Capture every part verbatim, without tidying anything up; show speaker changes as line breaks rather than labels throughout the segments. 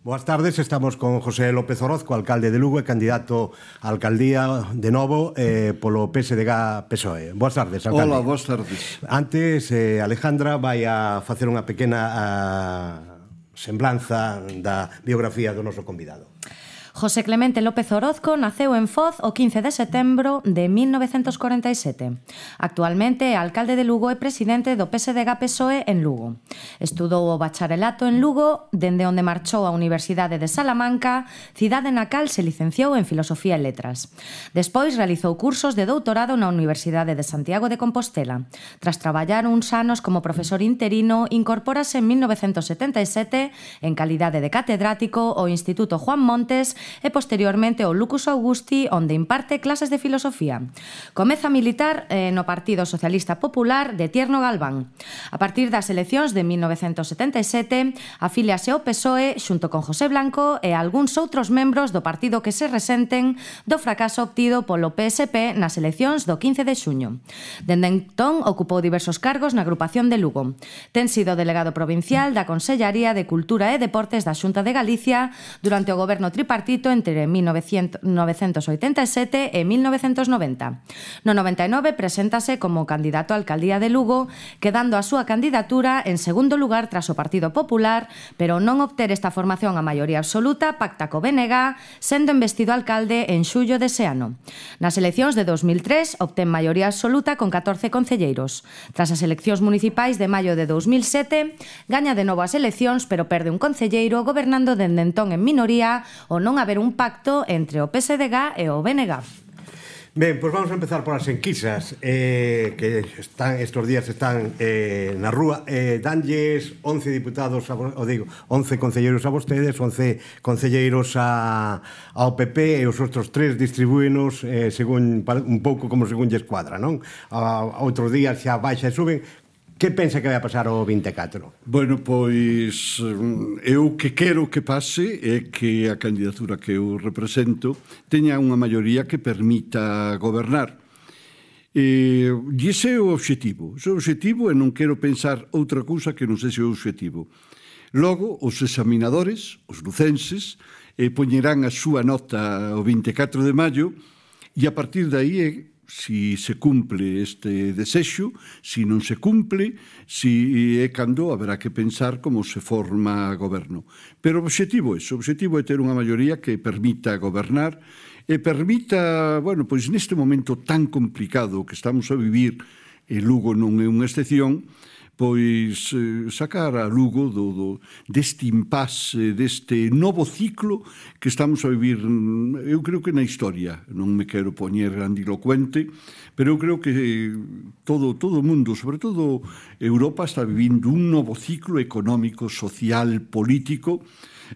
Boas tardes, estamos con José López Orozco, alcalde de Lugo e candidato a alcaldía de novo eh, polo P S D G P S O E. Boas tardes, alcalde.
Hola, boas tardes.
Antes, eh, Alejandra vai a facer unha pequena a, semblanza da biografía do noso convidado.
José Clemente López Orozco naceu en Foz o quince de setembro de mil novecentos corenta e sete. Actualmente é alcalde de Lugo e presidente do P S D G P S O E en Lugo. Estudou o bacharelato en Lugo, dende onde marchou á Universidade de Salamanca, cidade na cal se licenciou en Filosofía e Letras. Despois realizou cursos de doutorado na Universidade de Santiago de Compostela. Tras traballar uns anos como profesor interino, incorpórase en mil novecentos setenta e sete en calidade de catedrático ao Instituto Juan Montes e posteriormente ao Lucus Augusti, onde imparte clases de filosofía. Comeza a militar eh, no Partido Socialista Popular de Tierno Galván. A partir das eleccións de mil novecentos setenta e sete, afíliase ao P S O E xunto con José Blanco e algúns outros membros do partido que se resenten do fracaso obtido polo P S P nas eleccións do quince de xuño. Dende entón, ocupou diversos cargos na agrupación de Lugo. Ten sido delegado provincial da Consellaría de Cultura e Deportes da Xunta de Galicia durante o goberno tripartito entre mil novecentos oitenta e sete e mil novecentos noventa. No noventa e nove preséntase como candidato á alcaldía de Lugo, quedando a súa candidatura en segundo lugar tras o Partido Popular, pero non obter esta formación a maioría absoluta, pacta co B N G, sendo investido alcalde en xullo dese ano. Nas eleccións de dos mil tres obtén maioría absoluta con catorce concelleiros. Tras as eleccións municipais de maio de dos mil sete, gaña de novo as eleccións, pero perde un concelleiro, gobernando dende entón en minoría o non haber un pacto entre o P S D G e o B N G.
Ben, pois vamos a empezar por as enquisas eh, que están estes días están eh, na rúa. Eh, danlles once diputados, a, o digo, once concelleiros a vostedes, once concelleiros a, ao P P e os outros tres distribúenos eh, según, un pouco como según lle escuadra, non? A, a outros días xa baixa e suben. Que pensa que vai a pasar o vinte e catro?
Bueno, pois eu que quero que pase é que a candidatura que eu represento teña unha maioría que permita gobernar. E ese é o obxectivo. Ese é o obxectivo e non quero pensar outra cousa que non sexa o obxectivo. Logo, os examinadores, os lucenses, eh, poñerán a súa nota o vinte e catro de maio e a partir de aí é si se cumple este desexo, si non se cumple, si é cando haberá que pensar como se forma goberno. Pero o obxectivo é, o obxectivo é ter unha maioría que permita gobernar e permita, bueno, pois neste momento tan complicado que estamos a vivir, e Lugo non é unha excepción, pois eh, sacar a Lugo do, do, deste impasse, deste novo ciclo que estamos a vivir, eu creo que na historia. Non me quero poñer grandilocuente, pero eu creo que todo, todo o mundo, sobre todo Europa, está vivindo un novo ciclo económico, social, político,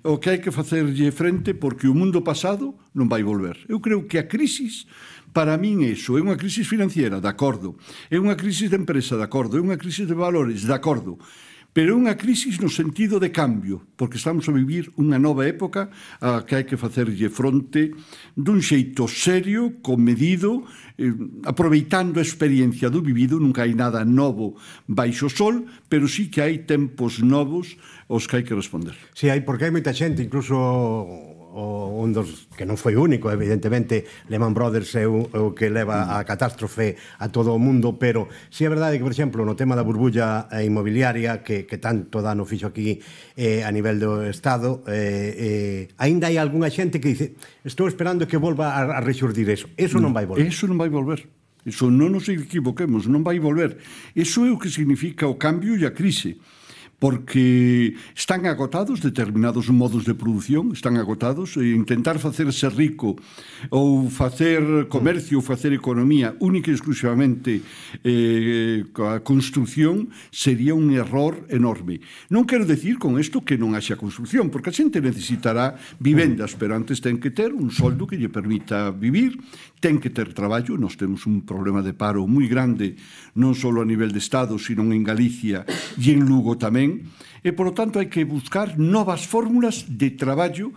o que hai que facerlle frente porque o mundo pasado non vai volver. Eu creo que a crisis, para min iso, é unha crisis financiera, de acordo, é unha crisis de empresa, de acordo, é unha crisis de valores, de acordo, pero é unha crisis no sentido de cambio, porque estamos a vivir unha nova época a que hai que facerlle fronte dun xeito serio, comedido, eh, aproveitando a experiencia do vivido. Nunca hai nada novo baixo o sol, pero sí que hai tempos novos aos que hai que responder.
Si, hai, porque hai moita xente, incluso o, un dos que non foi único, evidentemente Lehman Brothers é o, o que leva a catástrofe a todo o mundo, pero si é verdade que, por exemplo, no tema da burbulla inmobiliaria que, que tanto dano fixo aquí eh, a nivel do Estado, eh, eh, ainda hai algunha xente que dice estou esperando que volva a, a rexurdir eso. Eso non vai volver.
Eso non vai volver. Eso non nos equivoquemos, non vai volver. Eso é o que significa o cambio e a crise. Porque están agotados determinados modos de produción, están agotados, e intentar facerse rico ou facer comercio ou facer economía única e exclusivamente eh, a construción sería un error enorme. Non quero decir con isto que non haxa construción, porque a xente necesitará vivendas, pero antes ten que ter un soldo que lle permita vivir, ten que ter traballo. Nós temos un problema de paro moi grande, non só a nivel de Estado, sino en Galicia e en Lugo tamén, e, por lo tanto, hai que buscar novas fórmulas de traballo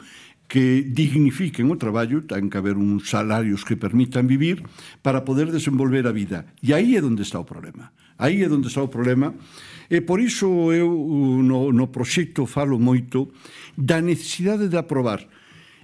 que dignifiquen o traballo, ten que haber uns salarios que permitan vivir para poder desenvolver a vida. E aí é onde está o problema. Aí é onde está o problema. E por iso eu no, no proxecto falo moito da necesidade de aprobar.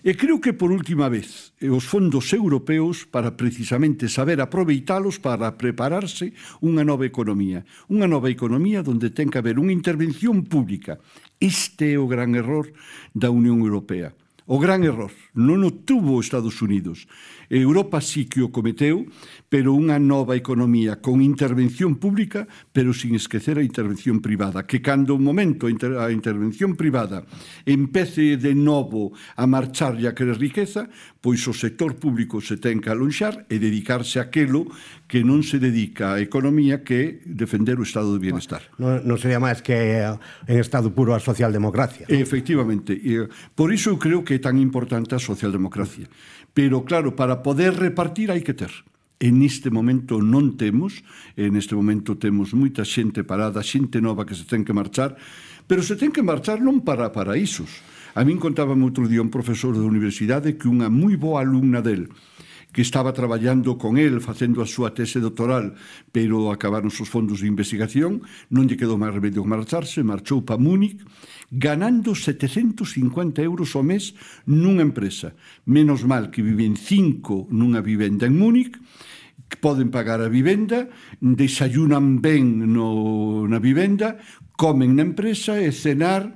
E creo que por última vez os fondos europeos para precisamente saber aproveitalos para prepararse unha nova economía. Unha nova economía onde ten que haber unha intervención pública. Este é o gran error da Unión Europea. O gran error. Non o tuvo Estados Unidos. Europa sí que o cometeu, pero unha nova economía con intervención pública, pero sin esquecer a intervención privada. Que cando un momento a intervención privada empece de novo a marchar e a querer riqueza, pois o sector público se ten que alonxar e dedicarse a aquilo que non se dedica a economía, que é defender o estado de bienestar.
Non, non sería máis que en estado puro a socialdemocracia.
Efectivamente. Por iso eu creo que é tan importante a socialdemocracia. Pero, claro, para poder repartir hai que ter. En este momento non temos, en este momento temos moita xente parada, xente nova que se ten que marchar, pero se ten que marchar non para paraísos. A min contábame outro día un profesor da universidade que unha moi boa alumna del, que estaba traballando con el, facendo a súa tese doctoral, pero acabaron os fondos de investigación, non lle quedou máis remedio que marcharse, marchou para Múnich, ganando setecentos cincuenta euros ao mes nunha empresa. Menos mal que viven cinco nunha vivenda en Múnich, que poden pagar a vivenda, desayunan ben no, na vivenda, comen na empresa e cenar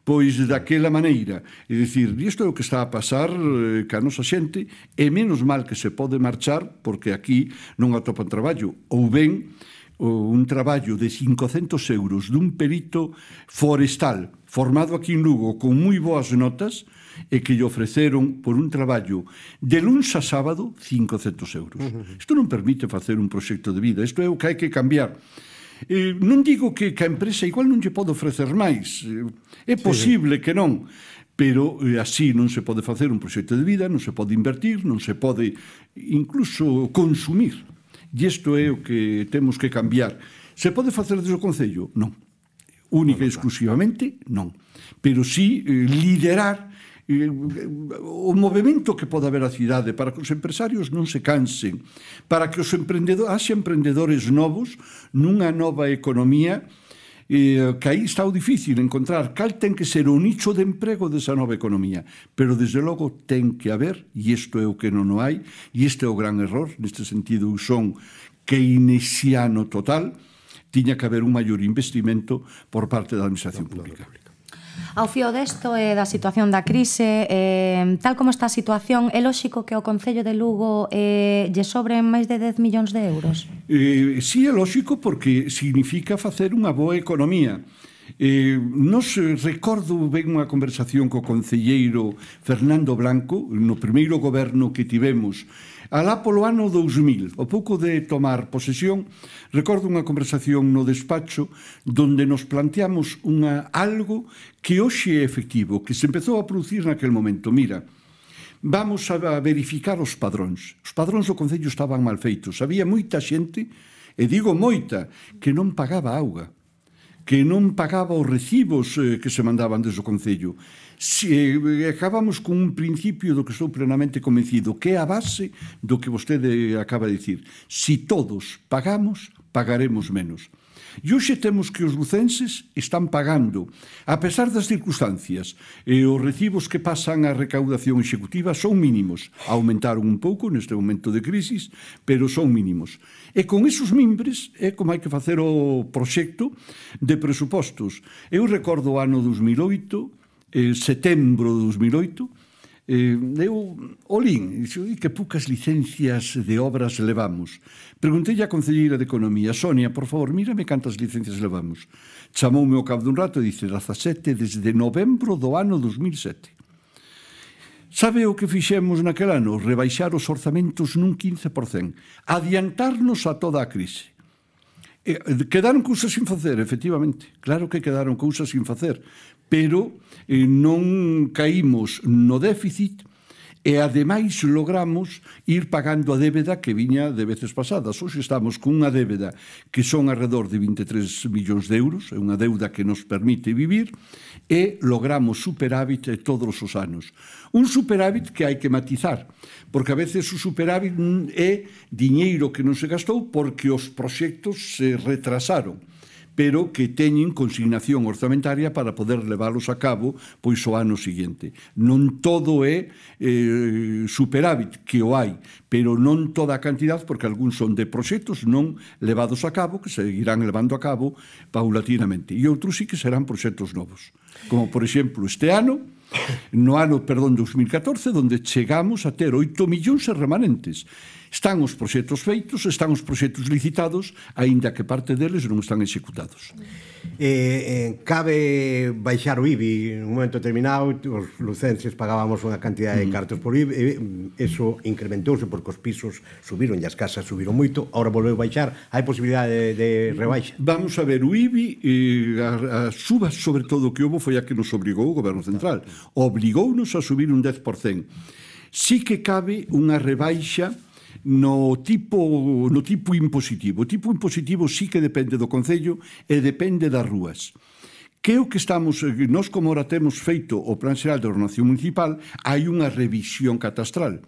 pois daquela maneira. É dicir, isto é o que está a pasar eh, ca nosa xente, e menos mal que se pode marchar, porque aquí non atopan traballo, ou ben un traballo de cincocentos euros dun perito forestal formado aquí en Lugo con moi boas notas e que lle ofreceron por un traballo de luns a sábado cincocentos euros. Isto non permite facer un proxecto de vida, isto é o que hai que cambiar. Eh, non digo que, que a empresa igual non lle pode ofrecer máis, é posible que non, pero eh, así non se pode facer un proxecto de vida, non se pode invertir, non se pode incluso consumir. E isto é o que temos que cambiar. Se pode facer desde o Concello? Non. Única e exclusivamente, non. Pero sí eh, liderar eh, o movimento que pode haber a cidade para que os empresarios non se cansen, para que os emprendedores, haxa emprendedores novos nunha nova economía, eh, que aí está o difícil encontrar cal ten que ser o nicho de emprego desa nova economía, pero desde logo ten que haber, e isto é o que non o hai, e este é o gran error, neste sentido son keynesiano total, tiña que haber un maior investimento por parte da administración pública.
Ao fío desto e da situación da crise, eh, tal como está a situación, é lóxico que o Concello de Lugo eh, lle sobren máis de dez millóns de euros?
Eh, sí, é lóxico porque significa facer unha boa economía. Eh, nos recordo ben unha conversación co concelleiro Fernando Blanco no primeiro goberno que tivemos alá polo ano dous mil, ao pouco de tomar posesión. Recordo unha conversación no despacho donde nos planteamos unha, algo que hoxe é efectivo, que se empezou a producir naquel momento. Mira, vamos a verificar os padróns. Os padróns do Concello estaban mal feitos. Había moita xente, e digo moita, que non pagaba auga, que non pagaba os recibos eh, que se mandaban desde o Concello. Si, eh, acabamos con un principio do que estou plenamente convencido, que é a base do que vostede acaba de dicir. Si todos pagamos, pagaremos menos. E hoxe temos que os lucenses están pagando, a pesar das circunstancias, e os recibos que pasan a recaudación executiva son mínimos. Aumentaron un pouco neste momento de crisis, pero son mínimos. E con esos mimbres é como hai que facer o proxecto de presupostos. Eu recordo o ano dos mil oito, eh, setembro de dos mil oito, eh, eu olín, e que poucas licencias de obras levamos. Preguntei a concelleira de Economía, Sonia, por favor, mírame cantas licencias levamos. Chamoume ao cabo dun rato e dice, dezasete desde novembro do ano dos mil sete. Sabe o que fixemos naquel ano? Rebaixar os orzamentos nun quince por cento. Adiantarnos a toda a crise. E, quedaron cousas sin facer, efectivamente. Claro que quedaron cousas sin facer. Pero eh, non caímos no déficit E ademais logramos ir pagando a débeda que viña de veces pasadas. Hoxe estamos con unha débeda que son alrededor de vinte e tres millóns de euros, é unha deuda que nos permite vivir, e logramos superávit todos os anos. Un superávit que hai que matizar, porque a veces o superávit é diñeiro que non se gastou porque os proxectos se retrasaron, pero que teñen consignación orzamentaria para poder leválos a cabo pois o ano seguinte. Non todo é eh, superávit, que o hai, pero non toda a cantidad, porque algúns son de proxectos non levados a cabo, que se irán levando a cabo paulatinamente. E outros sí que serán proxectos novos. Como, por exemplo, este ano, no ano, perdón, dos mil catorce, onde chegamos a ter oito millóns e remanentes. Están os proxectos feitos, están os proxectos licitados, aínda que parte deles non están executados.
Eh, eh, cabe baixar o I B I en un momento determinado, os lucenses pagábamos unha cantidad de cartos por I B I, eso incrementouse porque os pisos subiron e as casas subiron moito, agora volveu baixar, hai posibilidade de, de rebaixa?
Vamos a ver, o I B I, eh, a, a suba sobre todo que houve foi a que nos obrigou o Goberno Central, obligounos a subir un dez por cento. Sí que cabe unha rebaixa no tipo, no tipo impositivo. O tipo impositivo sí que depende do Concello e depende das rúas. Que é o que estamos, nós como ora temos feito o Plan Xeral de Ordenación Municipal, hai unha revisión catastral.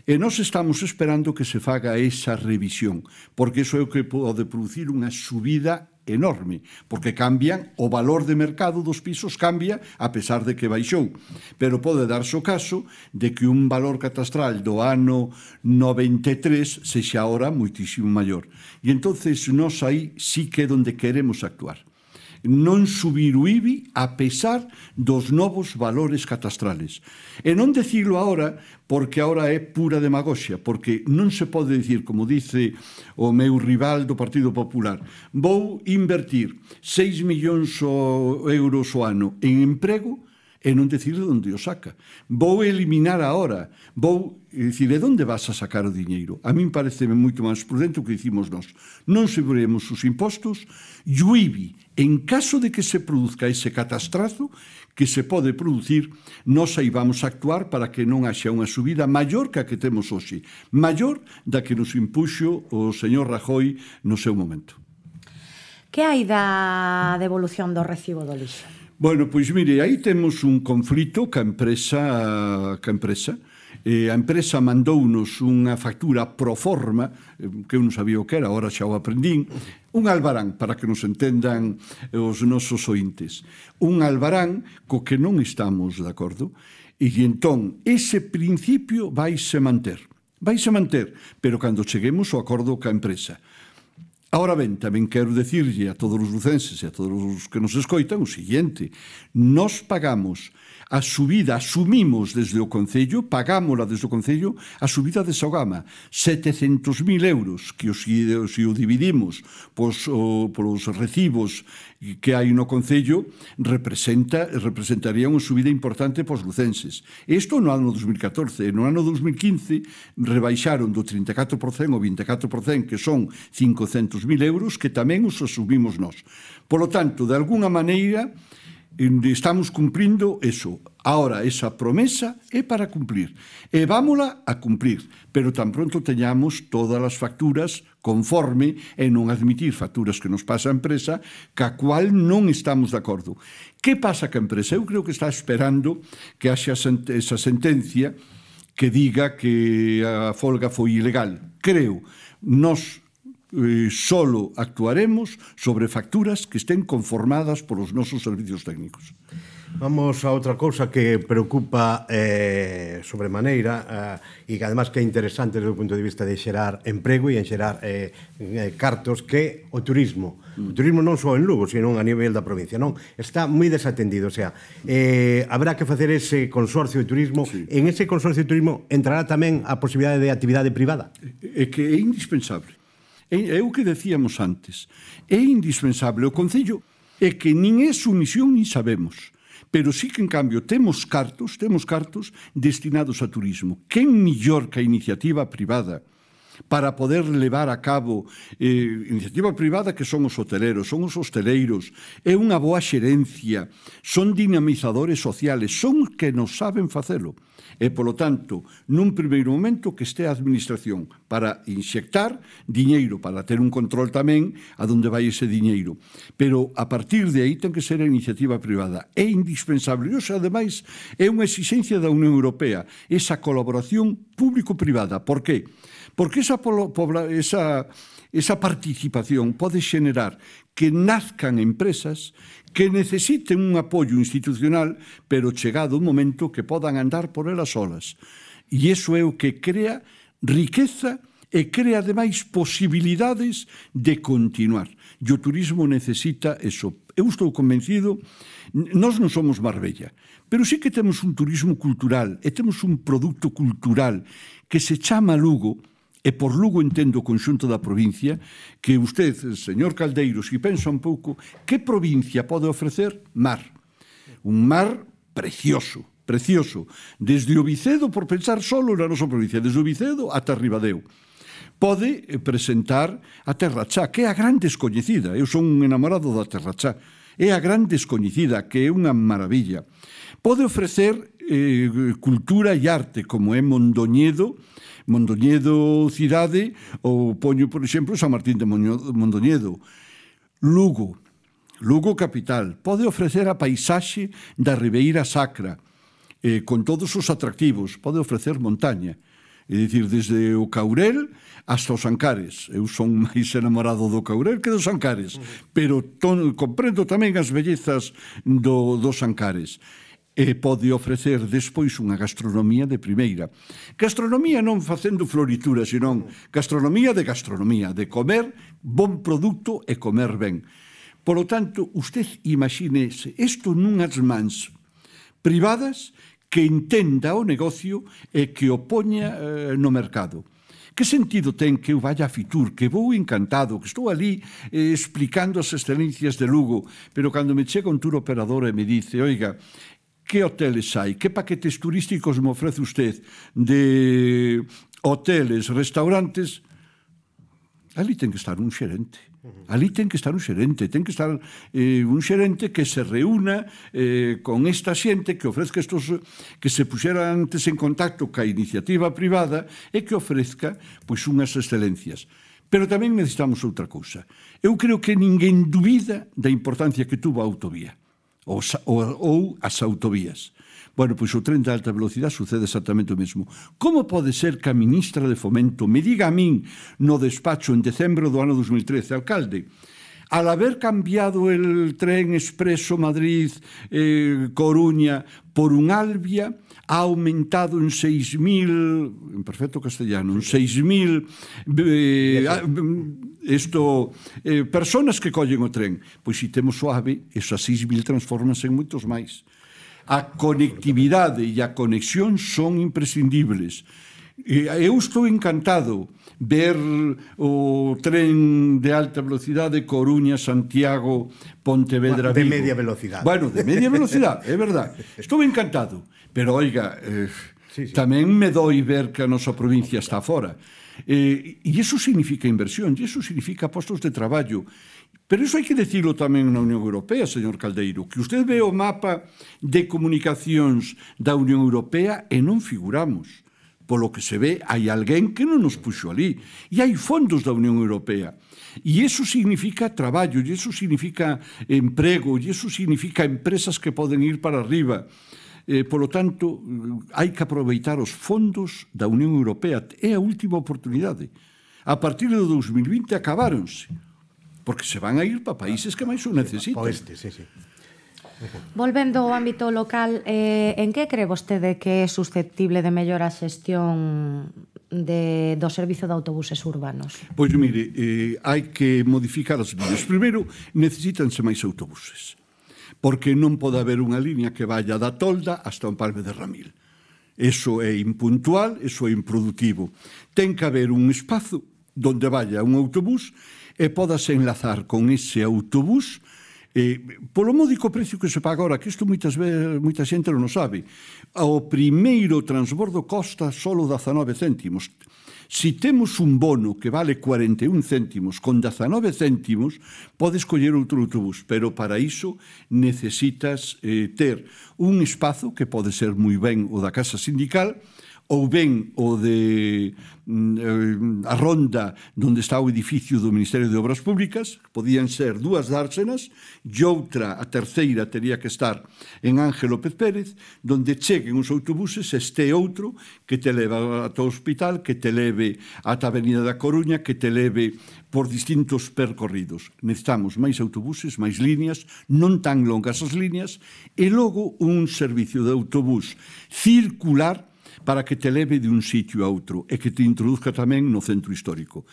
E nós estamos esperando que se faga esa revisión, porque iso é o que pode producir unha subida enorme, porque cambian, o valor de mercado dos pisos cambia a pesar de que baixou, pero pode darse o caso de que un valor catastral do ano noventa e tres sexa ahora moitísimo maior. E entonces nós aí sí que é onde queremos actuar. Non subir o I B I a pesar dos novos valores catastrales. E non dicilo agora porque agora é pura demagoxia, porque non se pode dicir, como dice o meu rival do Partido Popular, vou invertir seis millóns de euros o ano en emprego e non decir de onde o saca. Vou eliminar ahora, vou dicir, de onde vas a sacar o diñeiro? A min parece moito máis prudente o que dicimos nós. Non subiremos os impostos e o I B I, en caso de que se produzca ese catastrazo que se pode producir, nós aí vamos a actuar para que non haxa unha subida maior que a que temos hoxe, maior da que nos impuxo o señor Rajoy no seu momento.
Que hai da devolución do recibo do lixo?
Bueno, pois mire, aí temos un conflito ca empresa, ca empresa. Eh, a empresa mandounos unha factura pro forma, que eu non sabía o que era, agora xa o aprendín, un albarán, para que nos entendan os nosos ointes. Un albarán co que non estamos de acordo, e entón ese principio vaise manter. Vaise manter, pero cando cheguemos ao acordo ca empresa. Ahora ben, tamén quero decirlle a todos os lucenses e a todos os que nos escoitan o seguinte: nós pagamos a subida, asumimos desde o Concello, pagámola desde o Concello, a subida de Sogama, setecentos mil euros, que os, se o dividimos pos, o, polos recibos que hai no Concello, representa, representaría unha subida importante pos lucenses. Isto no ano dos mil catorce. No ano dos mil quince rebaixaron do trinta e catro por cento ao vinte e catro por cento, que son cincocentos mil euros, que tamén os asumimos nós. Por lo tanto, de alguna maneira, estamos cumprindo eso. Ahora, esa promesa é para cumplir. E vámola a cumplir, pero tan pronto teñamos todas as facturas conforme e non admitir facturas que nos pasa a empresa ca cual non estamos de acordo. Que pasa ca empresa? Eu creo que está esperando que haxa esa sentencia que diga que a folga foi ilegal. Creo, nós Eh, solo actuaremos sobre facturas que estén conformadas polos nosos servicios técnicos.
Vamos a outra cousa que preocupa eh, sobremaneira eh, e que además que é interesante desde o punto de vista de xerar emprego e en xerar eh, eh, cartos, que o turismo. O turismo non só en Lugo, sino a nivel da provincia, non? Está moi desatendido, o sea, eh, habrá que facer ese consorcio de turismo. Sí. En ese consorcio de turismo entrará tamén a posibilidade de actividade privada?
É que é indispensable. É o que decíamos antes. É indispensable. O Concello é que nin é sumisión nin sabemos. Pero sí que, en cambio, temos cartos, temos cartos destinados a turismo. Quen millor que a iniciativa privada para poder levar a cabo eh, iniciativa privada que son os hoteleros, son os hosteleiros, é unha boa xerencia, son dinamizadores sociales, son que nos saben facelo. E, polo tanto, nun primeiro momento que este a administración para inxectar diñeiro, para ter un control tamén a donde vai ese diñeiro. Pero, a partir de aí, ten que ser a iniciativa privada. É indispensable. E, ademais, é unha exigencia da Unión Europea, esa colaboración público-privada. Por qué? Porque esa, esa, esa participación pode xenerar que nazcan empresas que necesiten un apoio institucional, pero chegado un momento que podan andar por elas solas. E iso é o que crea riqueza e crea, ademais, posibilidades de continuar. E o turismo necesita eso. Eu estou convencido, nós non somos Marbella, pero sí que temos un turismo cultural e temos un produto cultural que se chama Lugo, e por Lugo entendo o conxunto da provincia, que usted, señor Caldeiro, se pensa un pouco, que provincia pode ofrecer? Mar. Un mar precioso, precioso. Desde o Vicedo, por pensar solo na nosa provincia, desde o Vicedo ata Ribadeo. Pode presentar a Terra Chá, que é a gran descoñecida. Eu son un enamorado da Terra Chá. É a gran descoñecida, que é unha maravilla. Pode ofrecer eh, cultura e arte, como é Mondoñedo, Mondoñedo cidade, ou poño, por exemplo, San Martín de Mondoñedo. Lugo, Lugo capital, pode ofrecer a paisaxe da Ribeira Sacra, eh, con todos os atractivos, pode ofrecer montaña, é dicir, desde o Caurel hasta os Ancares. Eu son máis enamorado do Caurel que dos Ancares, pero ton, comprendo tamén as bellezas do, dos Ancares. E pode ofrecer despois unha gastronomía de primeira. Gastronomía non facendo floritura, senón gastronomía de gastronomía, de comer bon produto e comer ben. Por lo tanto, usted imagínese isto nunhas mans privadas que entenda o negocio e que o poña eh, no mercado. Que sentido ten que eu vaya a Fitur, que vou encantado, que estou ali eh, explicando as excelencias de Lugo, pero cando me chega un tour operador e me dice, oiga, que hoteles hai? Que paquetes turísticos me ofrece usted de hoteles, restaurantes? Ali ten que estar un xerente. Ali ten que estar un xerente. Ten que estar eh, un xerente que se reúna eh, con esta xente que ofrezca estos, que se puxera antes en contacto ca iniciativa privada e que ofrezca pois unhas excelencias. Pero tamén necesitamos outra cousa. Eu creo que ninguén dubida da importancia que tuvo a autovía. Ou, ou, ou as autovías. Bueno, pois o tren de alta velocidade sucede exactamente o mesmo. Como pode ser que a ministra de Fomento me diga a min no despacho en decembro do ano dos mil trece, alcalde, al haber cambiado el tren expreso Madrid-Coruña eh, por un Albia, ha aumentado en seis mil, en perfecto castellano, en seis mil eh, esto, eh, personas que collen o tren. Pois se temos o AVE, esas seis mil transformanse en moitos máis. A conectividade e a conexión son imprescindibles. Eu estou encantado ver o tren de alta velocidade Coruña, Santiago, Pontevedra, Vigo.
De media velocidade.
Bueno, de media velocidade, é verdad. Estou encantado. Pero, oiga, eh, sí, sí. tamén me doi ver que a nosa provincia está fora. Eh, e iso significa inversión, e iso significa postos de traballo. Pero iso hai que decirlo tamén na Unión Europea, señor Caldeiro, que usted ve o mapa de comunicacións da Unión Europea e non figuramos. Polo que se ve, hai alguén que non nos puxo ali. E hai fondos da Unión Europea. E iso significa traballo, e iso significa emprego, e iso significa empresas que poden ir para arriba. Eh, polo tanto, hai que aproveitar os fondos da Unión Europea. É a última oportunidade. A partir do dos mil vinte acabáronse, porque se van a ir para países que máis o necesitan.
Oeste, sí, sí.
Volvendo ao ámbito local, eh, en que cree vostede que é susceptible de mellorar a xestión de, do servizo de autobuses urbanos?
Pois mire, eh, hai que modificar as líneas. Primeiro, necesítanse máis autobuses, porque non pode haber unha línea que vaya da Tolda hasta o Empalme de Ramil. Eso é impuntual, eso é improdutivo. Ten que haber un espazo donde vaya un autobús e podase enlazar con ese autobús eh, polo módico precio que se paga agora, que isto moitas veces, moita xente non o sabe. O primeiro transbordo costa solo dezanove céntimos. Si temos un bono que vale cuarenta e un céntimos con dezanove céntimos, podes coller outro autobús, pero para iso necesitas eh, ter un espazo que pode ser moi ben o da Casa Sindical, ou ben o de mm, a ronda onde está o edificio do Ministerio de Obras Públicas, podían ser dúas dársenas, e outra, a terceira, teria que estar en Ángel López Pérez, donde cheguen os autobuses, este outro que te leva ata o hospital, que te leve ata a Avenida da Coruña, que te leve por distintos percorridos. Necesitamos máis autobuses, máis líneas, non tan longas as líneas, e logo un servicio de autobús circular para que te leve de un sitio a outro e que te introduzca tamén no centro histórico.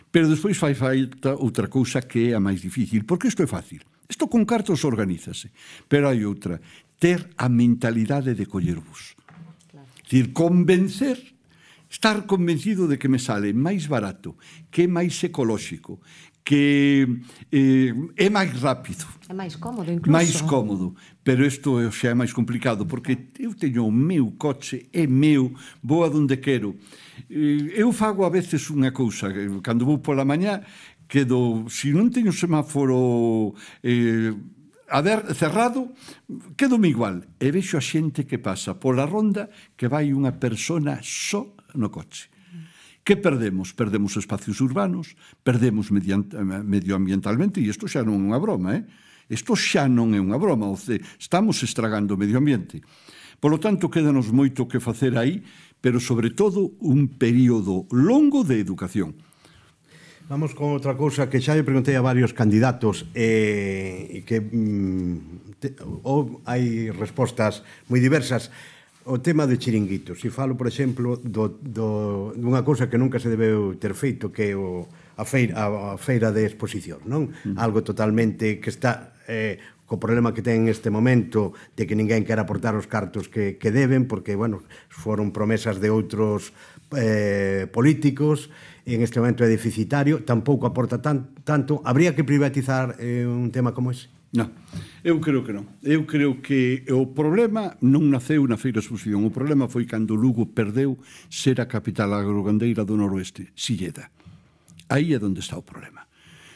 Pero despois fai falta outra cousa que é a máis difícil, porque isto é fácil. Isto con cartos organizase, pero hai outra, ter a mentalidade de coller bus. Claro. É dicir, convencer, estar convencido de que me sale máis barato, que é máis ecolóxico, que eh, é máis rápido.
É máis cómodo, incluso.
Mais cómodo, pero isto xa é máis complicado, porque eu teño o meu coche, é meu, vou a donde quero. Eu fago a veces unha cousa, cando vou pola mañá, quedo, se non teño semáforo eh, a ver, cerrado, quedo-me igual. E vexo a xente que pasa pola ronda que vai unha persona só no coche. Que perdemos? Perdemos espacios urbanos, perdemos medioambientalmente, e isto xa non é unha broma, eh? Isto xa non é unha broma, estamos estragando o medio ambiente. Por lo tanto, quédanos moito que facer aí, pero sobre todo un período longo de educación.
Vamos con outra cousa que xa lle preguntei a varios candidatos e que hai respostas moi diversas. O tema de chiringuitos. Se falo, por exemplo, do, do, dunha cousa que nunca se debeu ter feito, que é o, a, feira, a feira de exposición, non? Mm. Algo totalmente que está eh, co problema que ten neste momento de que ninguén quer aportar os cartos que, que deben, porque, bueno, foron promesas de outros eh, políticos, e en este momento é deficitario, tampouco aporta tan, tanto. Habría que privatizar eh, un tema como ese?
Non, eu creo que non. Eu creo que o problema non naceu na feira de exposición. O problema foi cando Lugo perdeu ser a capital agrogandeira do noroeste, Silleda. Aí é onde está o problema.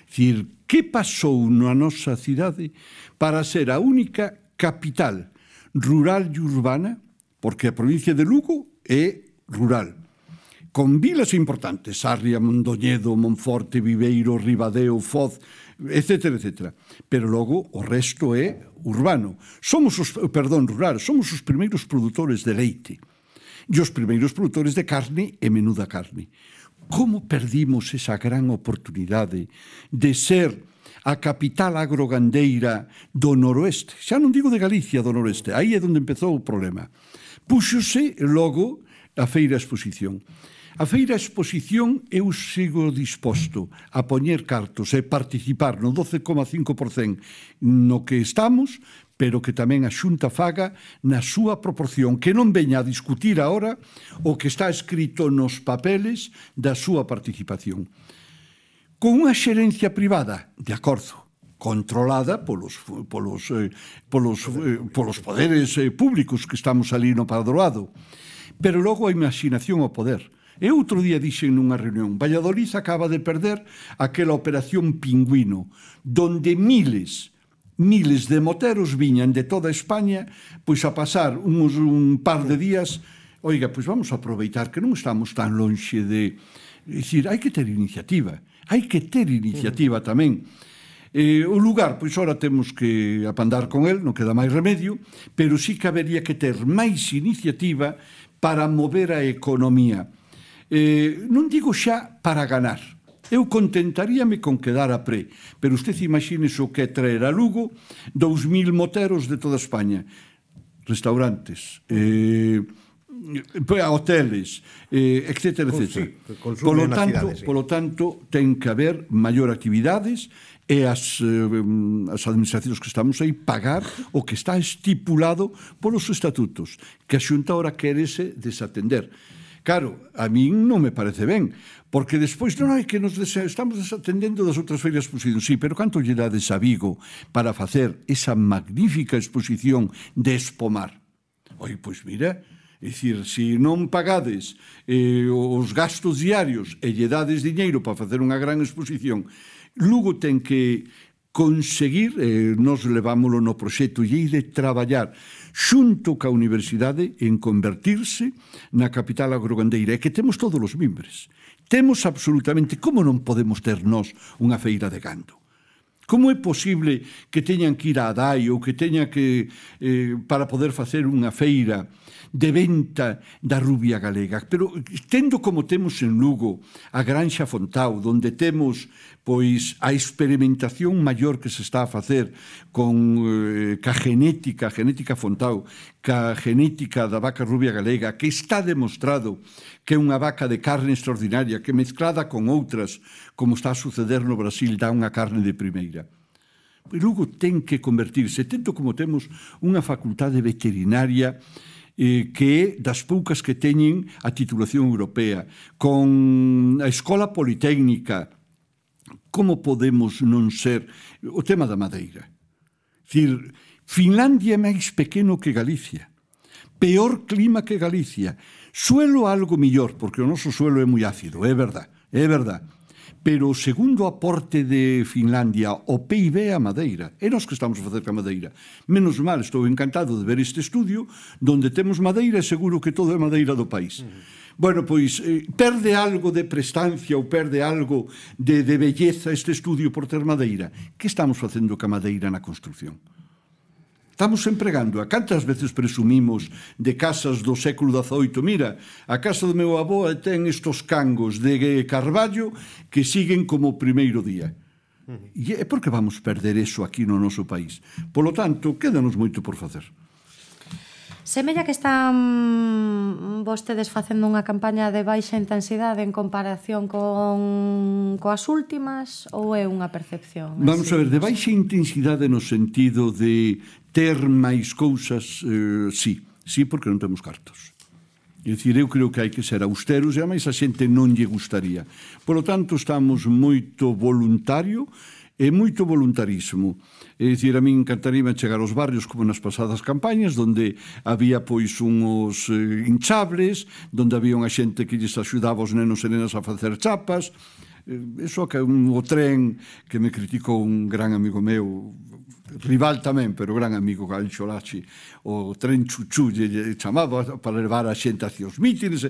Dicir, que pasou na nosa cidade para ser a única capital rural e urbana, porque a provincia de Lugo é rural, con vilas importantes, Sarria, Mondoñedo, Monforte, Viveiro, Ribadeo, Foz, etcétera, etcétera. Pero logo o resto é urbano. Somos os, perdón, rural, somos os primeiros produtores de leite e os primeiros produtores de carne e menuda carne. Como perdimos esa gran oportunidade de ser a capital agrogandeira do noroeste? Xa non digo de Galicia, do noroeste. Aí é onde empezou o problema. Púxose logo a feira exposición. A feira exposición eu sigo disposto a poñer cartos e participar no doce coma cinco por cento no que estamos, pero que tamén a Xunta faga na súa proporción, que non veña a discutir agora o que está escrito nos papeles da súa participación. Con unha xerencia privada, de acordo, controlada polos, polos, eh, polos, eh, polos poderes eh, públicos que estamos ali no padroado, pero logo a imaginación ao poder. E outro día dixen nunha reunión, Valladolid acaba de perder aquela operación Pingüino, donde miles, miles de moteros viñan de toda España pois a pasar uns, un par de días. Oiga, pois vamos a aproveitar que non estamos tan lonxe de... É dicir, hai que ter iniciativa, hai que ter iniciativa tamén. Eh, o lugar, pois ora temos que apandar con el, non queda máis remedio, pero sí que habería que ter máis iniciativa para mover a economía. Eh, non digo xa para ganar. Eu contentaríame con quedar a pré, pero usted imagine o que é traer a Lugo dous mil moteros de toda España. Restaurantes, eh, hoteles, eh, etcétera, etcétera. Sí, polo tanto, cidade, sí. Polo tanto, ten que haber maior actividades e as, eh, as administracións que estamos aí pagar o que está estipulado polos estatutos, que a Xunta ahora querese desatender. Claro, a min non me parece ben, porque despois non hai que nos estamos desatendendo das outras feiras de exposición. Sí, pero canto lle dades a Vigo para facer esa magnífica exposición de Espomar? Oi, pois mira, É dicir, se non pagades eh, os gastos diarios e lle dades diñeiro para facer unha gran exposición, Lugo ten que conseguir, eh, nos levámoslo no proxecto, e de traballar xunto ca universidade en convertirse na capital agrogandeira, e que temos todos os mimbres. Temos absolutamente, como non podemos ter nós unha feira de gando? Como é posible que teñan que ir a Adai ou que teña que, eh, para poder facer unha feira de venta da rubia galega? Pero tendo como temos en Lugo a Granxa Fontao, donde temos pois a experimentación maior que se está a facer con eh, ca genética, a genética Fontao, ca genética da vaca rubia galega, que está demostrado que é unha vaca de carne extraordinaria, que mezclada con outras, como está a suceder no Brasil, dá unha carne de primeira. E Lugo ten que convertirse, tento como temos unha facultade veterinaria eh, que é das poucas que teñen a titulación europea, con a Escola Politécnica. Como podemos non ser o tema da madeira? Dicir, Finlandia é máis pequeno que Galicia, peor clima que Galicia, suelo algo millor, porque o noso suelo é moi ácido, é verdad, é verdad. Pero o segundo aporte de Finlandia ao P I B é a madeira. É nós que estamos a facer ca madeira. Menos mal, estou encantado de ver este estudio donde temos madeira e seguro que todo é madeira do país. Uh-huh. Bueno, pois, eh, perde algo de prestancia ou perde algo de, de belleza este estudio por ter madeira. Que estamos facendo ca madeira na construcción? Estamos empregando. A cantas veces presumimos de casas do século dezaoito? Mira, a casa do meu avó ten estos cangos de carballo que siguen como o primeiro día. E é porque vamos perder eso aquí no noso país. Polo tanto, quédanos moito por facer.
Semella que están vostedes facendo unha campaña de baixa intensidade en comparación con coas últimas, ou é unha percepción?
Vamos a ver, de baixa intensidade no sentido de ter máis cousas, eh, sí, sí, porque non temos cartos. É dicir, eu creo que hai que ser austeros e a máis a xente non lle gustaría. Por lo tanto, estamos moito voluntario e moito voluntarismo. É dicir, a min encantaría chegar aos barrios como nas pasadas campañas, donde había pois uns eh, hinchables, donde había unha xente que lles axudaba os nenos e nenas a facer chapas. Eh, eso que un, o tren que me criticou un gran amigo meu, rival tamén, pero gran amigo, Galcho Lachi, o tren chuchú lle chamaba para levar a xente hacia os mítines.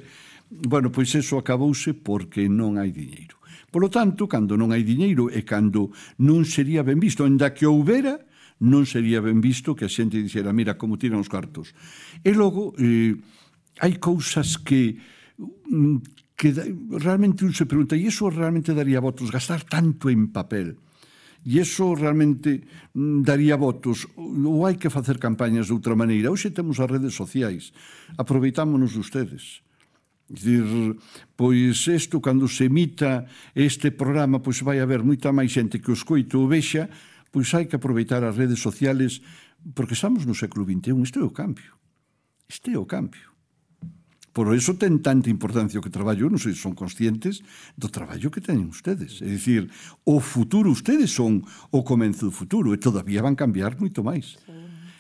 Bueno, pois eso acabouse porque non hai diñeiro. Por lo tanto, cando non hai diñeiro e cando non sería ben visto, ainda que houbera, non sería ben visto que a xente dixera, mira como tiran os cartos. E logo, eh, hai cousas que, que realmente un se pregunta, e iso realmente daría votos, gastar tanto en papel? E iso realmente daría votos? Ou hai que facer campañas de outra maneira? Hoxe temos as redes sociais, aproveitámonos de ustedes. Dicir, pois isto, cando se emita este programa, pois vai haber moita máis xente que o escoito ou vexa, pois hai que aproveitar as redes sociales, porque estamos no século vinte e un, isto é o cambio. Isto é o cambio. Por iso ten tanta importancia o que traballo, non sei se son conscientes do traballo que teñen ustedes. É dicir, o futuro, ustedes son o comenzo do futuro, e todavía van cambiar moito máis.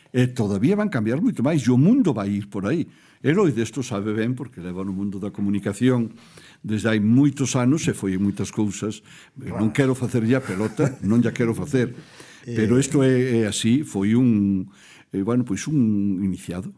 E todavía van cambiar moito máis, e o mundo vai ir por aí. Eloi desto sabe ben, porque leva no mundo da comunicación desde hai moitos anos e foi en moitas cousas. Non quero facer ya pelota, non ya quero facer. Pero isto é, é así, foi un, eh, bueno, pois un iniciado.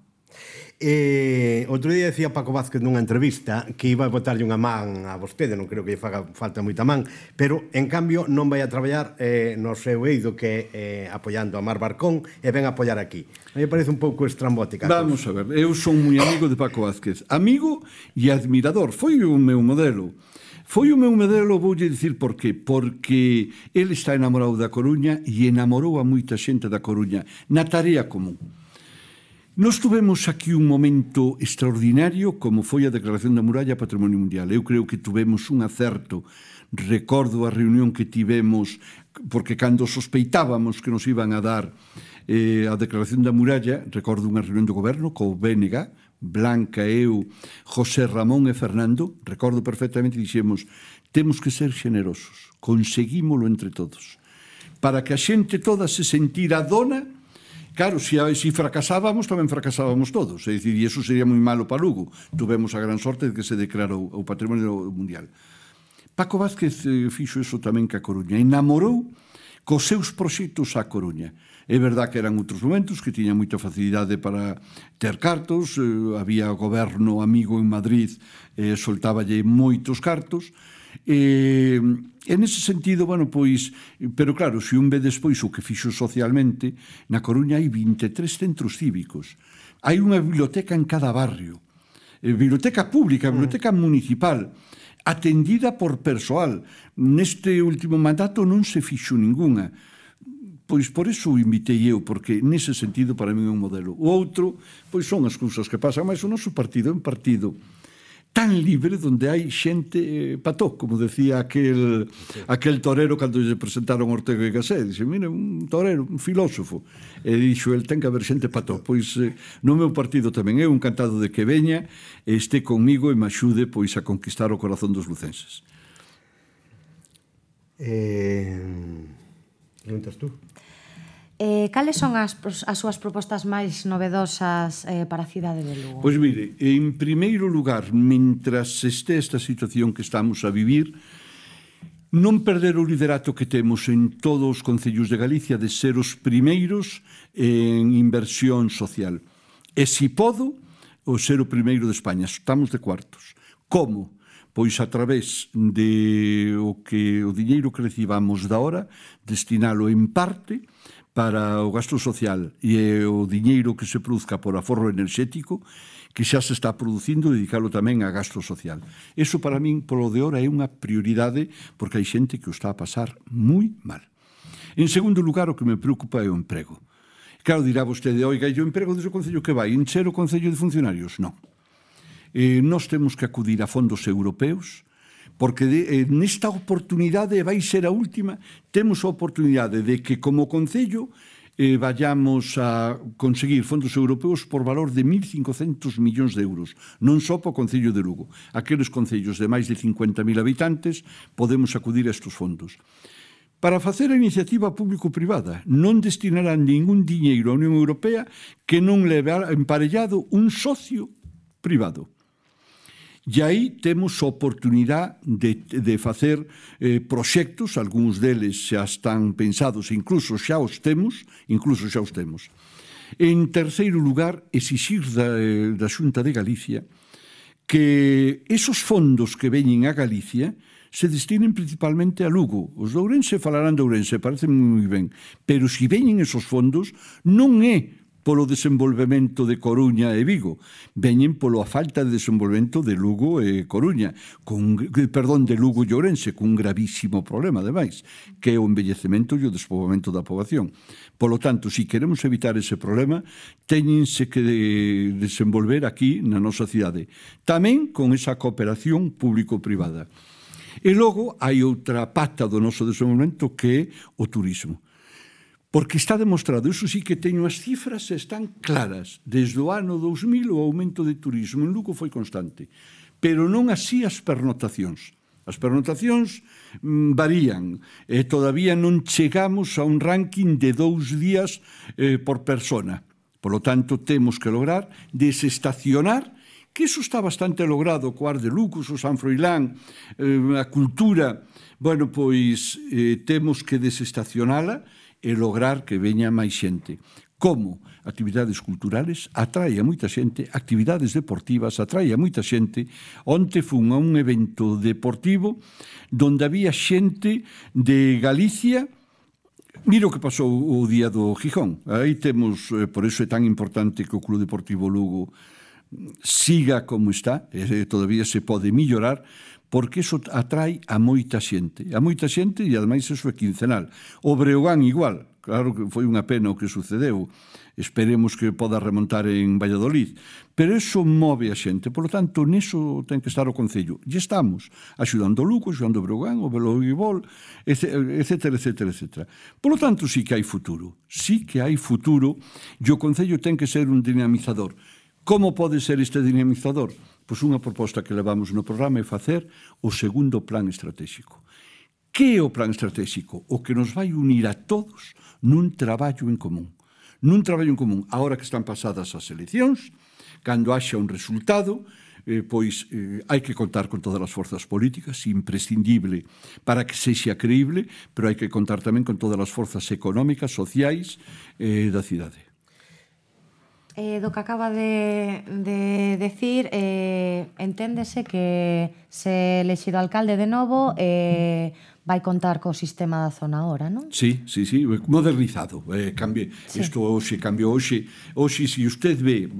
Eh, outro día decía Paco Vázquez nunha entrevista que iba a botarlle unha man a vostede, non creo que lle faga falta moita man, pero en cambio non vai a traballar eh, no seu eido, que é eh, apoiando a Mar Barcón, e ven a apoiar aquí. Me parece un pouco estrambótica.
Vamos a ver, eu son moi amigo de Paco Vázquez, amigo e admirador, foi o meu modelo. Foi o meu modelo, voulle dicir por qué. Porque ele está enamorado da Coruña e enamorou a moita xente da Coruña na tarea común. Nos tuvemos aquí un momento extraordinario como foi a Declaración da Muralla Patrimonio Mundial. Eu creo que tuvemos un acerto. Recordo a reunión que tivemos, porque cando sospeitábamos que nos iban a dar eh, a Declaración da Muralla, recordo unha reunión do goberno co B N G, Blanca, eu, José Ramón e Fernando, recordo perfectamente, dixemos, temos que ser generosos, conseguímolo entre todos, para que a xente toda se sentira dona Claro, se si, si fracasábamos, tamén fracasábamos todos. É dicir, e iso sería moi malo para Lugo. Tuvemos a gran sorte de que se declarou o Patrimonio Mundial. Paco Vázquez eh, fixo iso tamén que a Coruña. Enamorou cos seus proxectos a Coruña. É verdad que eran outros momentos, que tiña moita facilidade para ter cartos, eh, había goberno amigo en Madrid, eh, soltáballe moitos cartos, e en ese sentido, bueno, pois, pero claro, se un ve despois o que fixo socialmente, na Coruña hai vinte e tres centros cívicos, hai unha biblioteca en cada barrio, eh, biblioteca pública, biblioteca municipal, atendida por persoal. Neste último mandato non se fixo ningunha. Pois por eso o invitei eu, porque nese sentido para mí é un modelo. O outro, pois son as cousas que pasan, mas o noso partido é un partido tan libre donde hai xente eh, pató, como decía aquel, aquel torero cando lle presentaron Ortega y Gasset. Dixe, mire, un torero, un filósofo. E dixo, el ten que haber xente pató. Pois eh, no meu partido tamén é un encantado de que veña e este conmigo e me axude pois a conquistar o corazón dos lucenses.
Eh, preguntas tú?
Eh, cales son as, as súas propostas máis novedosas eh, para a cidade de Lugo?
Pois mire, en primeiro lugar, mentras este esta situación que estamos a vivir, non perder o liderato que temos en todos os concellos de Galicia de ser os primeiros en inversión social. E, si podo, o ser o primeiro de España. Estamos de cuartos. Como? Pois a través de o que o diñeiro que recibamos da hora, destinalo en parte para o gasto social e o diñeiro que se produzca por aforro enerxético que xa se está producindo, dedicalo tamén a gasto social. Eso para min, polo de hora, é unha prioridade porque hai xente que o está a pasar moi mal. En segundo lugar, o que me preocupa é o emprego. Claro, dirá vostede, oiga, e o emprego desde o Concello que vai? Encher o Concello de funcionarios? Non. Eh, nós temos que acudir a fondos europeos porque de, eh, nesta oportunidade vai ser a última, temos a oportunidade de que como Concello eh, vayamos a conseguir fondos europeos por valor de mil cincocentos millóns de euros, non só para o Concello de Lugo. Aqueles concellos de máis de cincuenta mil habitantes podemos acudir a estes fondos. Para facer a iniciativa público-privada, non destinarán ningún diñeiro á Unión Europea que non leve emparellado un socio privado. E aí temos a oportunidade de, de facer eh, proxectos, algúns deles xa están pensados, incluso xa os temos, incluso xa os temos. En terceiro lugar, exixir da, da Xunta de Galicia que esos fondos que veñen a Galicia se destinen principalmente a Lugo. Os de Ourense falarán de Ourense, parece moi ben, pero se veñen esos fondos non é polo desenvolvemento de Coruña e Vigo, veñen polo a falta de desenvolvemento de Lugo e Coruña, con, perdón, de Lugo e Ourense, cun gravísimo problema, ademais, que é o envellecemento e o despoboamento da poboación. Polo tanto, se queremos evitar ese problema, teñense que desenvolver aquí na nosa cidade, tamén con esa cooperación público-privada. E logo hai outra pata do noso desenvolvemento que é o turismo. Porque está demostrado, iso sí que teño as cifras están claras. Desde o ano dous mil o aumento de turismo en Lugo foi constante, pero non así as pernotacións. As pernotacións mm, varían, e todavía non chegamos a un ranking de dous días eh, por persona. Por lo tanto, temos que lograr desestacionar, que iso está bastante logrado, co Ar de Lucos, o San Froilán, eh, a cultura. Bueno, pois eh, temos que desestacionala e lograr que veña máis xente. Como? Actividades culturales atrae a moita xente, actividades deportivas atrae a moita xente. Onte fun a un evento deportivo donde había xente de Galicia. Mira o que pasou o día do Gijón. Aí temos, por iso é tan importante que o Club Deportivo Lugo siga como está, e todavía se pode mellorar, porque iso atrae a moita xente. A moita xente e, ademais, iso é quincenal. O Breogán igual. Claro que foi unha pena o que sucedeu. Esperemos que poda remontar en Valladolid. Pero iso move a xente. Por lo tanto, niso ten que estar o Concello. E estamos axudando o Lugo, axudando o Breogán, o voleibol, etcétera, etcétera, etcétera. Por lo tanto, sí que hai futuro. Sí que hai futuro e o Concello ten que ser un dinamizador. Como pode ser este dinamizador? Pois unha proposta que levamos no programa é facer o segundo plan estratégico. Que é o plan estratégico? O que nos vai unir a todos nun traballo en común. nun traballo en común. Ahora que están pasadas as eleccións, cando haxa un resultado, eh, pois eh, hai que contar con todas as forzas políticas, imprescindible para que sexa creíble, pero hai que contar tamén con todas as forzas económicas, sociais eh, da cidade.
Eh, do que acaba de, de decir, eh, enténdese que se elexido alcalde de novo eh, vai contar co sistema da zona hora, non?
Sí, sí, sí, modernizado. Eh, cambie, sí. Isto hoxe cambiou hoxe. Hoxe, se usted ve,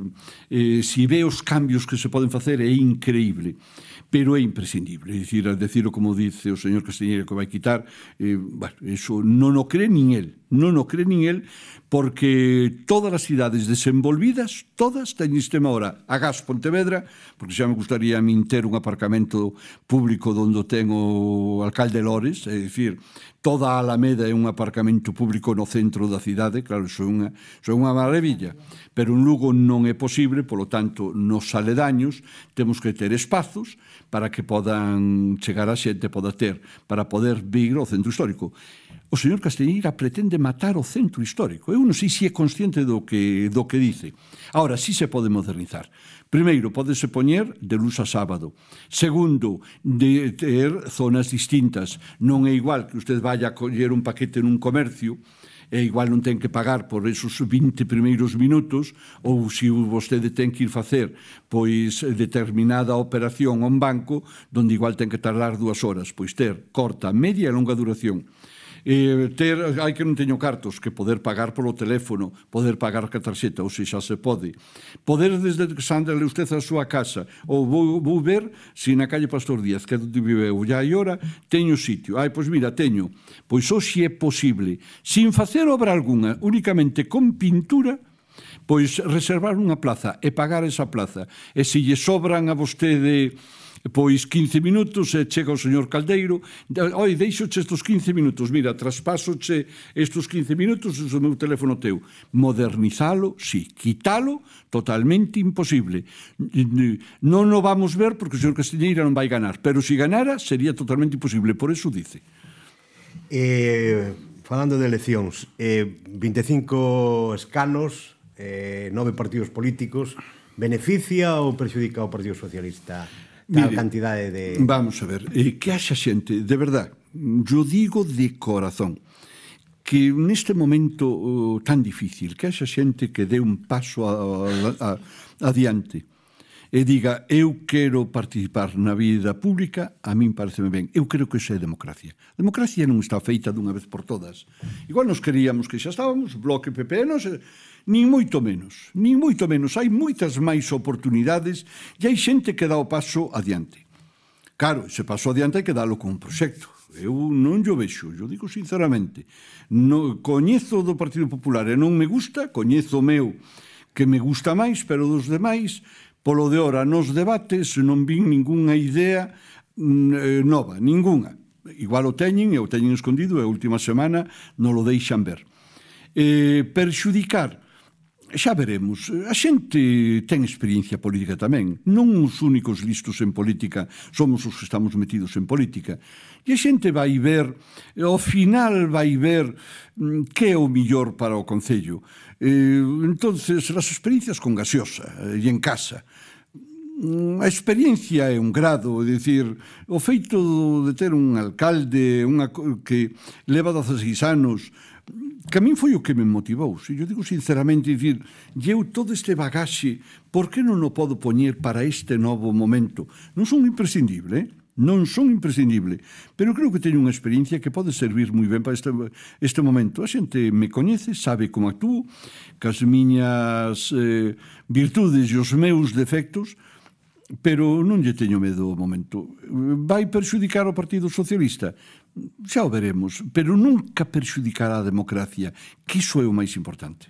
eh, se ve os cambios que se poden facer, é increíble. Pero é imprescindible. É dicir, al decirlo como dice o señor Castiñeira que vai quitar, eh, bueno, eso non o cree nin el. Non o cree nin el, porque todas as cidades desenvolvidas, todas teñen sistema ahora. A Gas Pontevedra, porque xa me gustaría a min ter un aparcamento público onde ten o alcalde Lores, é dicir, toda a Alameda é un aparcamento público no centro da cidade, claro, iso é unha, iso é unha maravilla, pero en Lugo non é posible, polo tanto, nos aledaños temos que ter espazos para que podan chegar a xente, poda ter, para poder vir ao centro histórico. O señor Castiñeira pretende matar o centro histórico. Eu non sei se é consciente do que, do que dice. Ahora, sí se pode modernizar. Primeiro, pódese poñer de luz a sábado. Segundo, de ter zonas distintas. Non é igual que usted vaya a coller un paquete nun comercio e igual non ten que pagar por esos vinte primeiros minutos, ou se vostede ten que ir facer pois determinada operación a un banco donde igual ten que tardar dúas horas, pois ter corta, media e longa duración. Eh, ter, hai que non teño cartos, que poder pagar polo teléfono, poder pagar ca tarxeta, ou se xa se pode. Poder desde que sandale usted a súa casa, ou vou, vou ver se na calle Pastor Díaz, que é onde viveu, ya hai hora, teño sitio. Ai, pois mira, teño. Pois hoxe é posible, sin facer obra alguna, únicamente con pintura, pois reservar unha plaza e pagar esa plaza. E se lle sobran a vostede pois quince minutos e chega o señor Caldeiro, oi, deixoche estes quince minutos, mira, traspasoche estes quince minutos, o meu teléfono teu. Modernizalo, sí, quitalo, totalmente imposible. Non o vamos ver porque o señor Castiñeira non vai ganar, pero se ganara sería totalmente imposible, por eso dice.
Eh, falando de eleccións, eh, vinte e cinco escanos, eh, nove partidos políticos, beneficia ou perxudica o Partido Socialista? Tal Mire, cantidade de...
Vamos a ver, eh, que haxa xente, de verdad, yo digo de corazón, que neste momento uh, tan difícil, que haxa xente que dé un paso a, a, a, adiante e diga, eu quero participar na vida pública, a min pareceme ben. Eu creo que iso é democracia. A democracia non está feita dunha vez por todas. Igual nos queríamos que xa estábamos, Bloque P P, non sei... Nin moito menos, nin moito menos. Hai moitas máis oportunidades e hai xente que dá o paso adiante. Claro, ese paso adiante hai que dalo con un proxecto. Eu non yo vexo, yo digo sinceramente. No, coñezo do Partido Popular e non me gusta, coñezo o meu que me gusta máis, pero dos demais, polo de hora nos debates non vin ningunha idea eh, nova, ningunha. Igual o teñen e o teñen escondido e a última semana non lo deixan ver. Eh, perxudicar, xa veremos. A xente ten experiencia política tamén. Non os únicos listos en política somos os que estamos metidos en política. E a xente vai ver, ao final vai ver que é o millor para o Concello. Eh, entonces, as experiencias con gaseosa e en casa. A experiencia é un grado, é dicir, o feito de ter un alcalde unha, que leva dezaseis anos, que a min foi o que me motivou. Se eu digo sinceramente, dicir, eu todo este bagaxe, por que non o podo poñer para este novo momento? Non son imprescindible, eh? non son imprescindible, pero creo que teño unha experiencia que pode servir moi ben para este, este momento. A xente me coñece, sabe como actúo, que as miñas eh, virtudes e os meus defectos, pero non lle teño medo ao momento. Vai perxudicar o Partido Socialista? Xa o veremos, pero nunca perxudicará a democracia, que iso é o máis importante.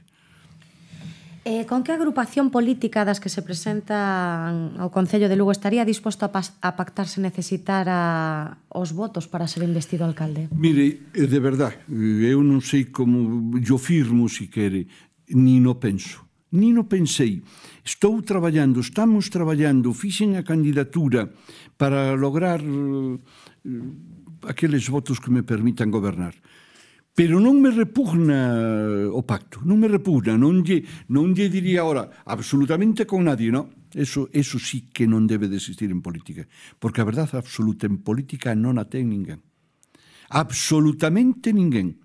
Eh, con que agrupación política das que se presentan ao Concello de Lugo estaría disposto a, a pactar se necesitara os votos para ser investido alcalde?
Mire, de verdad, eu non sei como yo firmo, si quere, ni no penso. Ni no pensei. Estou traballando, estamos traballando, fixen a candidatura para lograr uh, aqueles votos que me permitan gobernar. Pero non me repugna o pacto, non me repugna, non lle, non lle diría ahora absolutamente con nadie, no? Eso, eso sí que non debe de existir en política, porque a verdade absoluta en política non a ten ninguén. Absolutamente ninguén.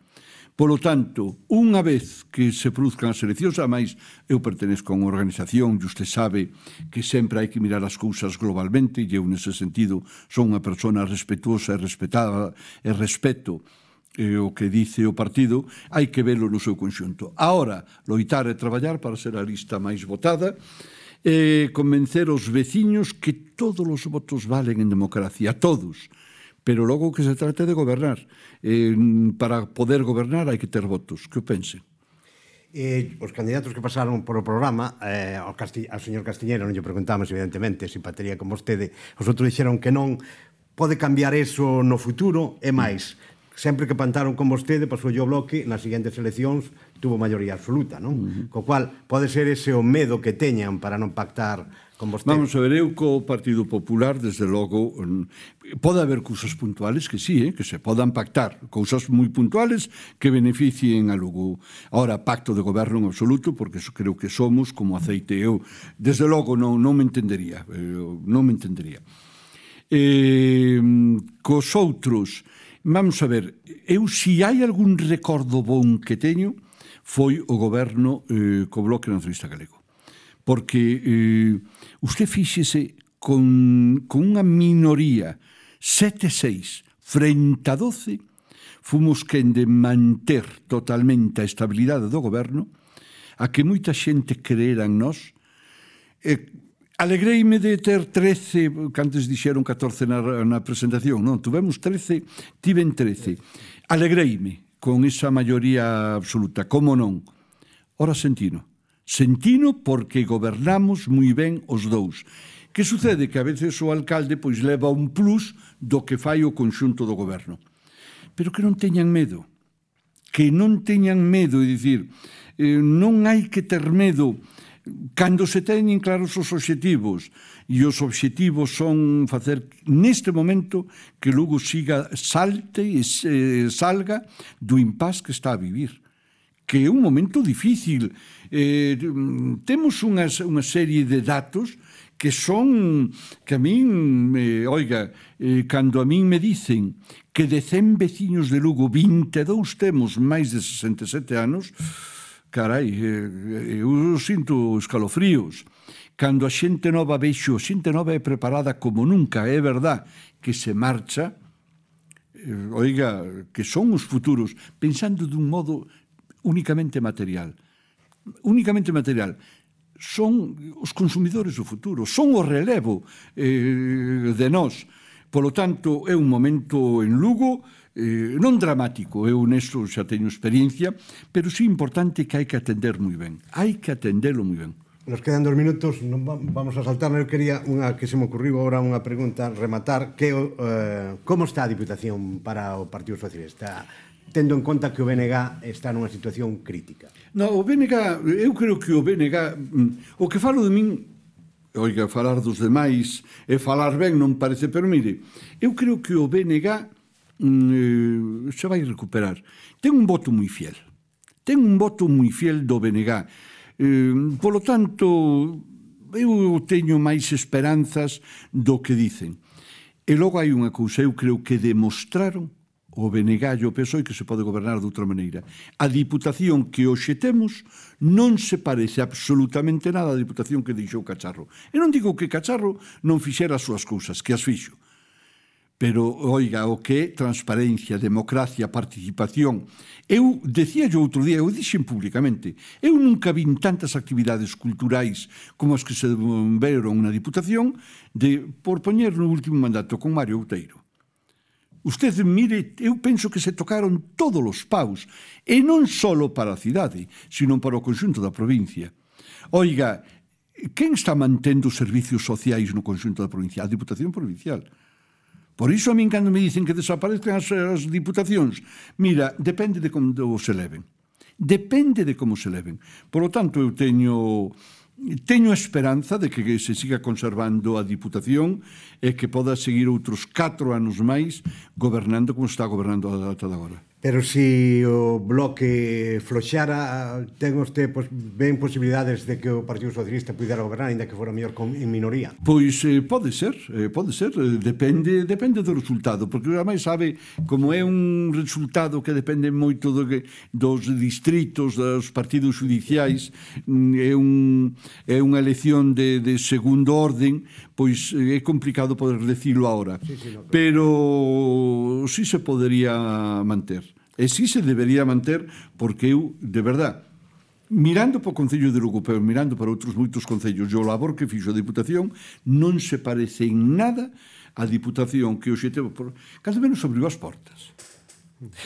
Polo tanto, unha vez que se produzcan as eleccións, ademais, eu pertenezco a unha organización e usted sabe que sempre hai que mirar as cousas globalmente e eu, nese sentido, son unha persona respetuosa e respetada e respeto eh, o que dice o partido, hai que velo no seu conxunto. Ahora, loitar e traballar para ser a lista máis votada e convencer os veciños que todos os votos valen en democracia, todos. Pero logo que se trate de gobernar. Eh, para poder gobernar hai que ter votos. Que o pense?
Eh, os candidatos que pasaron por o programa, eh, ao, Casti ao señor Castiñeiro non lle preguntamos, evidentemente, se empataría con vostede. Os outros dixeron que non pode cambiar eso no futuro, e máis, sempre que pantaron con vostede, pasou o bloque, nas seguintes eleccións tuvo maioría absoluta, non? Uh -huh. Co cual, pode ser ese o medo que teñan para non pactar con vostede.
Vamos a ver, eu co Partido Popular, desde logo, pode haber cousas puntuales que sí, eh, que se podan pactar, cousas moi puntuales que beneficien a Lugo. Ahora, pacto de goberno en absoluto, porque eso creo que somos como aceite. Eu, desde logo, non, non me entendería, eu, non me entendería. Eh, cos outros, vamos a ver, eu si hai algún recordo bon que teño, foi o goberno eh, co Bloque Nacionalista Galego. Porque eh, usted fíxese con, con unha minoría sete seis frente a doce, fomos quen de manter totalmente a estabilidade do goberno, a que moita xente creera en nós. Eh, alegreime de ter trece, que antes dixeron catorce na, na presentación, non, tuvemos trece, tiven trece. Alegreime con esa maioría absoluta, como non? Ora sentino. Sentino porque gobernamos moi ben os dous. Que sucede? Que a veces o alcalde pois leva un plus do que fai o conxunto do goberno. Pero que non teñan medo. Que non teñan medo, é dicir, eh, non hai que ter medo cando se teñen claros os obxectivos. E os obxectivos son facer neste momento que Lugo siga, salte e eh, salga do impás que está a vivir. Que é un momento difícil. Eh, temos unhas, unha serie de datos que son, que a min, eh, oiga, eh, cando a min me dicen que de cen veciños de Lugo, vinte e dous temos máis de sesenta e sete anos, carai, eh, eu sinto escalofríos. Cando a xente nova vexo, a xente nova é preparada como nunca, é verdad que se marcha, eh, oiga, que son os futuros, pensando dun modo únicamente material. Únicamente material. Son os consumidores do futuro, son o relevo eh, de nós. Polo tanto, é un momento en Lugo eh, non dramático, eu nesto xa teño experiencia, pero sí importante que hai que atender moi ben. Hai que atendelo moi ben.
Nos quedan dos minutos, non vamos a saltar. Eu quería unha que se me ocurriu agora unha pregunta, rematar, que eh, como está a Diputación para o Partido Socialista? Tendo en conta que o B N G está nunha situación crítica.
No, o B N G, eu creo que o B N G, o que falo de min, oiga, falar dos demais e falar ben non parece, pero mire, eu creo que o B N G mm, se vai recuperar. Ten un voto moi fiel. Ten un voto moi fiel do B N G. Eh, polo tanto, eu teño máis esperanzas do que dicen. E logo hai unha cousa, eu creo que demostraron o B N G e o P S O E que se pode gobernar de outra maneira. A Diputación que hoxe temos non se parece absolutamente nada á Diputación que deixou Cacharro. E non digo que Cacharro non fixera as súas cousas, que as fixo. Pero, oiga, o que é transparencia, democracia, participación. Eu decía yo outro día, eu dixen públicamente, eu nunca vin tantas actividades culturais como as que se veron na Diputación de, por poñer no último mandato con Mario Outeiro. Usted, mire, eu penso que se tocaron todos os paus, e non só para a cidade, sino para o conxunto da provincia. Oiga, quen está mantendo os servicios sociais no conxunto da provincia? A Diputación Provincial. Por iso, a min, cando me dicen que desaparezcan as, as diputacións, mira, depende de como se leven. Depende de como se leven. Por lo tanto, eu teño... Teño a esperanza de que se siga conservando a Diputación e que poda seguir outros catro anos máis gobernando como está gobernando ata agora.
Pero se o bloque floxara, ten usted, pues, ven posibilidades de que o Partido Socialista pudera gobernar, ainda que fora mellor en minoría?
Pois eh, pode ser, eh, pode ser, eh, depende, depende do resultado, porque ademais sabe, como é un resultado que depende moito do que, dos distritos, dos partidos judiciais, é, un, é unha elección de, de segundo orden, pois é complicado poder decirlo agora, sí, sí, no, claro. Pero sí se podería manter. E sí se debería manter, porque eu, de verdad, mirando para o Concello de Lugo, pero mirando para outros moitos concellos, o labor que fixo a Diputación non se parece en nada a Diputación que hoxe teve, por... cando menos abriu as portas.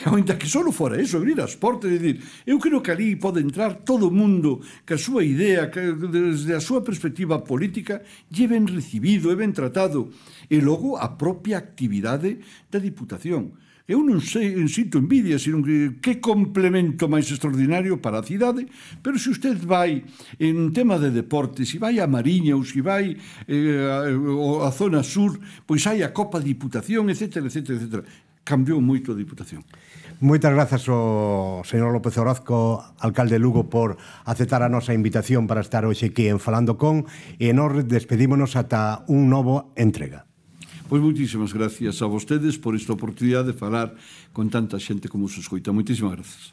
Ainda que só fora eso, abrir as portas e dicir, eu creo que ali pode entrar todo o mundo que a súa idea, que desde a súa perspectiva política lle ben recibido, é ben tratado, e logo a propia actividade da Diputación. Eu non sei, sinto envidia, sino que que complemento máis extraordinario para a cidade, pero se usted vai en tema de deportes, se vai a Mariña ou se vai eh, a, a zona sur, pois hai a Copa Diputación, etcétera, etcétera, etcétera. Cambiou moito a Diputación.
Moitas grazas ao señor López Orozco, alcalde de Lugo, por aceptar a nosa invitación para estar hoxe aquí en Falando Con, e nos despedímonos ata un novo entrega.
Pois moitísimas gracias a vostedes por esta oportunidade de falar con tanta xente como se escoita. Moitísimas grazas.